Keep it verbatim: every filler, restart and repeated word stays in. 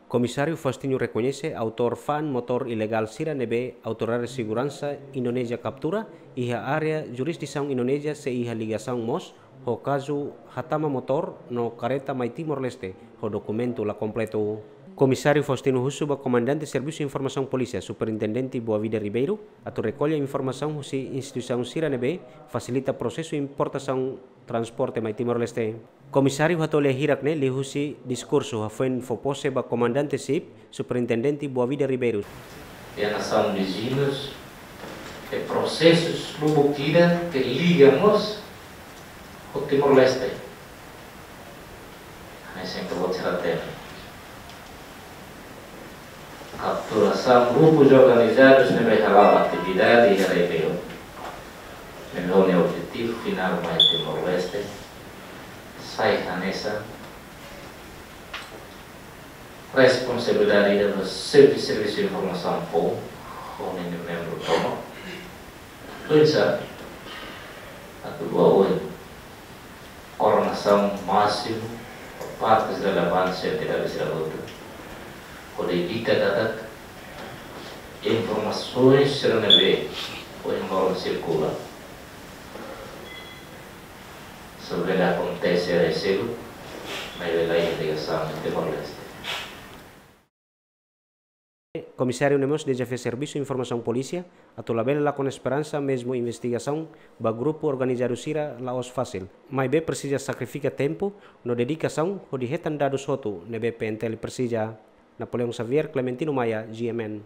Komisáriu Faustino rekoñese autór fa'an motór ilegál sira ne'ebé Autoridade Seguransa Indonézia kaptura iha área jurisdisaun Indonézia sei iha ligasaun mós ho kazu hatama motór no kareta mai Timor-Leste ho dokumentu la kompletu. Komisáriu Faustino husu ba Komandante Servisu Informasaun Polísia, Superintendente Boavida Ribeiro, atu rekolla informasaun husi instituisaun sira ne'ebé fasilita prosesu importasaun transporte mai Timor-Leste. Komisáriu hato'o lia hirak-ne'e liuhusi diskursu hafoin fó pose ba Komandante SIP, Superintendente Boavida Ribeiro. Iha nasaun viziñus, iha prosesus lubuk ida ke liga mós ho Timor-Leste. Hanesan ke buat sira hatene, kapturasaun grupus organizadus ne'ebé hala'o atividade iha rebeliaun, ne'ebé ho nia objetivu finál mai Timor-Leste, sai hanesan responsabilidade ida ba Xefe Servisu Informasaun Foun, ho ninia membru tomak. Oinsá atu bá oin koordenasaun másimu ho partes relevantes, entidades sira hotu, hodi evita katak informasaun sira ne'ebé ohin loron sirkula, sei bele akontese reselu, maibé la iha ligasaun ho Timor-Leste. Komisáriu ne'e mós dezafia Servisu Informasaun Polísia atu labele lakon esperansa, mezmu investigasaun ba grupu organizadu sira la'ós fasil. Maibé presiza sakrifika tempu no dedikasaun hodi hetan dadus hotu ne'ebé P N T L presiza. Napoleão Xavier, Clementino Maia, G M N.